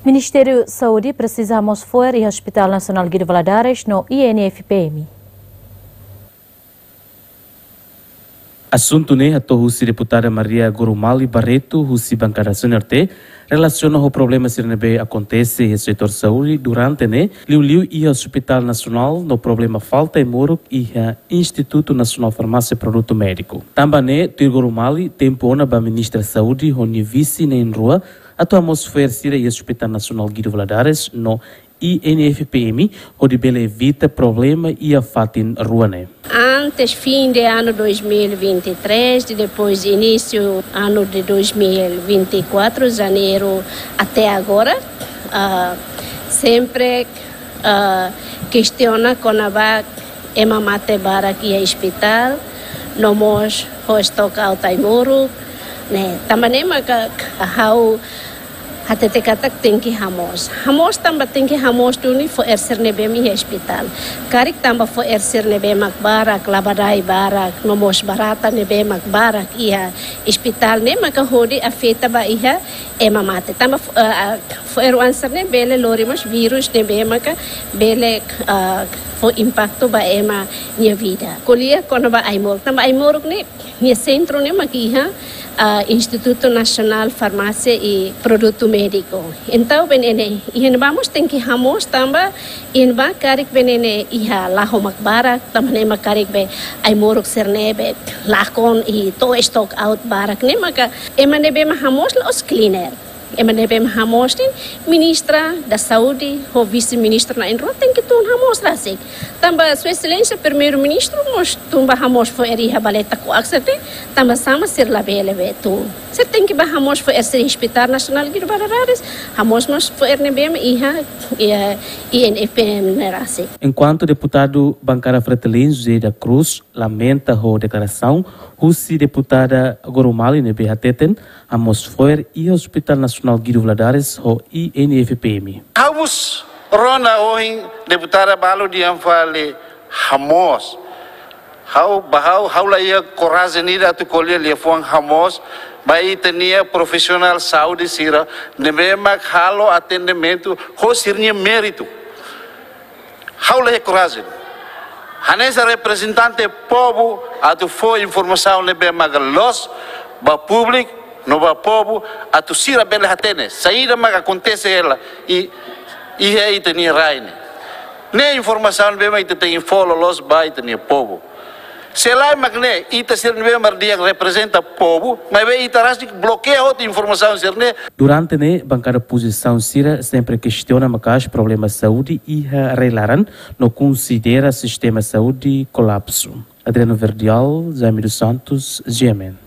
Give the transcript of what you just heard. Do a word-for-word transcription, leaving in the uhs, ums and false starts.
Ministériu Saúde presiza hamoos fo'er iha Hospital Nasionál Guido Valadares no I N F P M. Asuntu ne'e hato'o husi deputada Maria Gorumali Barreto, husi bankada C N R T, relasiona ho problema sira ne'ebé akontese iha setór saúde durante ne'e, liuliu iha Hospital Nasionál no problema falta ai-moruk iha Institutu Nasionál Farmásia Produtu Médiku. Tanba ne'e, tuir Gorumali, tempu ona ba Ministra Saúde ho nia vise na'in-rua atu hamoos fo'er sira iha Hospital Nasionál Guido Valadares no I N F P M, hodi bele evita problema iha fatin rua ne'e. Antes fim de ano dois mil e vinte e três, e depois início ano de dois mil e vinte e quatro, janeiro até agora, ah, sempre, ah, kestiona kona-ba ema mate barak iha ospitál, no mós ho stock out ai-moruk, ne'e. Tanba ne'e maka ha'u hatete katak tenke hamoos. Hamoos tanba tenke hamoos duni fo'er sira ne'ebé mak iha ospitál. Karik tanba fo'er sira ne'ebé mak barak, labadai barak, no mós barata ne'ebé mak barak iha ospitál ne'e maka hodi afeta ba iha ema mate. Tanba fo-, eh, eh, fo'er oan sira ne'e bele lori mós vírus ne'ebé maka bele, eh, fó impaktu ba ema nia vida. Ko'alia kona-ba ai-moruk. Tanba ai-moruk ne'e nia sentru ne'e mak iha, ah, Institutu Nasionál Farmásia i Produtu Médiku. Entaun, be ne'e, iha ne'ebá mós tenke hamoos tanba iha ne'ebá karik be ne'e iha lahó mak barak, tanba ne'e mak karik be ai-moruk sira ne'ebé lakon i to'o stock out barak ne'e maka ema ne'ebé mak hamoos la'ós cleaner. Ema ne'ebé mak hamoos ne'e Ministra da Saúde ho Vise-Ministra na'in-rua tenke tun hamoos rasik. Tanba Sua Exelénsia Primeiru-Ministru mós tun ba hamoos fo'er iha Baleta Kuak sete, tanba sá mak sira labele be tun. Sira tenke ba hamoos fo'er sira iha Hospital Nasionál Guido Valadares, hamoos mós fo'er ne'ebé mak iha, iha I N F P M ne'e rasik. Enkuantu deputadu bankada Fretilin José da Cruz lamenta ho deklarasaun husi deputada Gorumali ne'ebé hateten hamoos fo'er iha Hospital Nasionál Guido Valadares ho I N F P M. Ha'u mós rona ohin deputada balu dehan fali hamoos. Ha'u, ba ha'u, ha'u la iha korajen ida atu ko'alia liafuan hamoos ba ita-nia profisionál saúde sira ne'ebé mak halo atendimentu ho sira-nia méritu. Ha'u la iha korajen hanesan reprezentante povu atu fó informasaun ne'ebé mak loos ba públiku no ba povu atu sira bele hatene saida mak akontese hela i, iha ita-nia rai ne'e. Ne'e informasaun ne'ebé mak ita tenke fó loloos ba ita-nia povu. Se lae mak ne'e, ita sira ne'ebé mak di'ak reprezenta povu, maibé ita rasik blokeia hotu informasaun sira-ne'e. Durante ne'e, bankada opozisaun sira sempre kestiona maka'as problema saúde iha rai-laran no konsidera sistema saúde kolapsu. Adriano Verdial, Jaime dos Santos, G M N.